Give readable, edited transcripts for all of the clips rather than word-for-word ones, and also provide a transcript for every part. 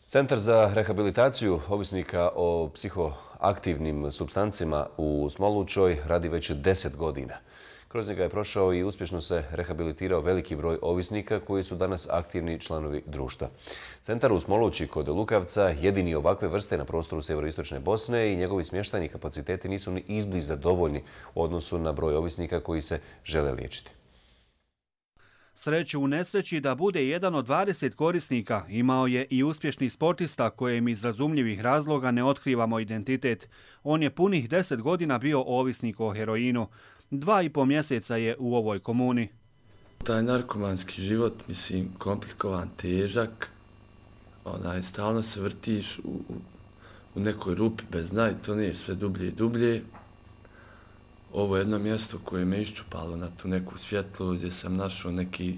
Centar za rehabilitaciju ovisnika o psihoaktivnim supstancima u Smolučoj radi već 10 godina. Kroz njega je prošao i uspješno se rehabilitirao veliki broj ovisnika koji su danas aktivni članovi društva. Centar u Smoluči kod Lukavca jedini ovakve vrste na prostoru sjeveroistočne Bosne i njegovi smještajni kapaciteti nisu ni izbliza dovoljni u odnosu na broj ovisnika koji se žele liječiti. Sreću u nesreći da bude jedan od 20 korisnika imao je i uspješni sportista kojem iz razumljivih razloga ne otkrivamo identitet. On je punih 10 godina bio ovisnik o heroinu. 2,5 mjeseca je u ovoj komuni. Taj narkomanski život, komplikovan, težak, stalno se vrtiš u nekoj rupi bez dna i toneš sve dublje i dublje. Ovo je jedno mjesto koje me iščupalo na tu neku svjetlo, gdje sam našao neki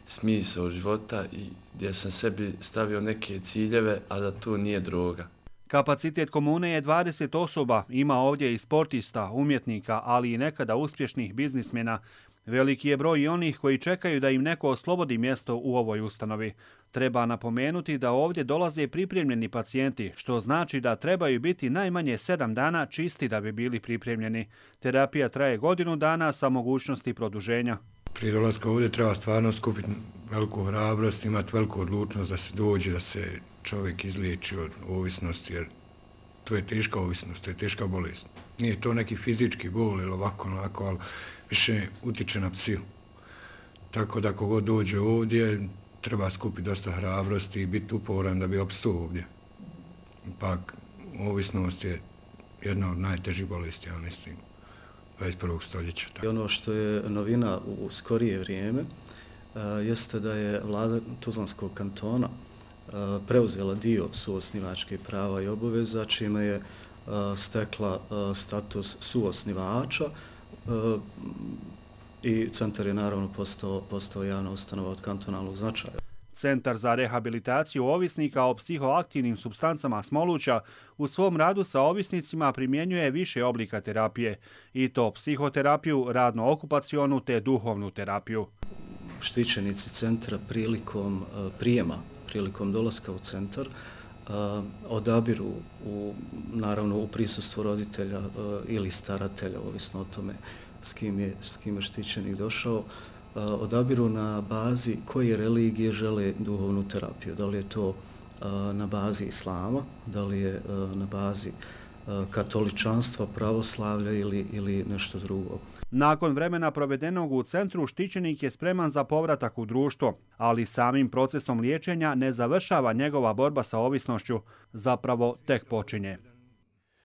smisao života i gdje sam sebi stavio neke ciljeve, a da to nije droga. Kapacitet komune je 20 osoba, ima ovdje i sportista, umjetnika, ali i nekada uspješnih biznismena. Veliki je broj i onih koji čekaju da im neko oslobodi mjesto u ovoj ustanovi. Treba napomenuti da ovdje dolaze pripremljeni pacijenti, što znači da trebaju biti najmanje 7 dana čisti da bi bili pripremljeni. Terapija traje godinu dana sa mogućnosti produženja. Prije dolaska ovdje treba stvarno skupiti veliku hrabrost, imati veliku odlučnost da se dođe, da se čovjek izliječi od ovisnosti, jer to je teška ovisnost, to je teška bolest. Nije to neki fizički bol ili ovako, ali više utiče na psihu. Tako da kogod dođe ovdje, treba skupiti dosta hrabrosti i biti uporan da bi opstao ovdje. Ipak, ovisnost je jedna od najtežih bolesti, ja mislim, 21. stoljeća. Ono što je novina u skorije vrijeme jeste da je vlada Tuzlanskog kantona preuzela dio suosnivačkih prava i obaveza, čime je stekla status suosnivača i centar je naravno postao javna ustanova od kantonalnog značaja. Centar za rehabilitaciju ovisnika o psihoaktivnim supstancama Smoluča u svom radu sa ovisnicima primjenjuje više oblika terapije, i to psihoterapiju, radno-okupacionu te duhovnu terapiju. Štićenici centra prilikom prijema, prilikom dolaska u centar, odabiru naravno u prisustvu roditelja ili staratelja, ovisno o tome s kim je štićenik došao, odabiru na bazi koje religije žele duhovnu terapiju. Da li je to na bazi islama, da li je na bazi katoličanstva, pravoslavlja ili nešto drugo. Nakon vremena provedenog u centru, štićenik je spreman za povratak u društvo, ali samim procesom liječenja ne završava njegova borba sa ovisnošću, zapravo tek počinje.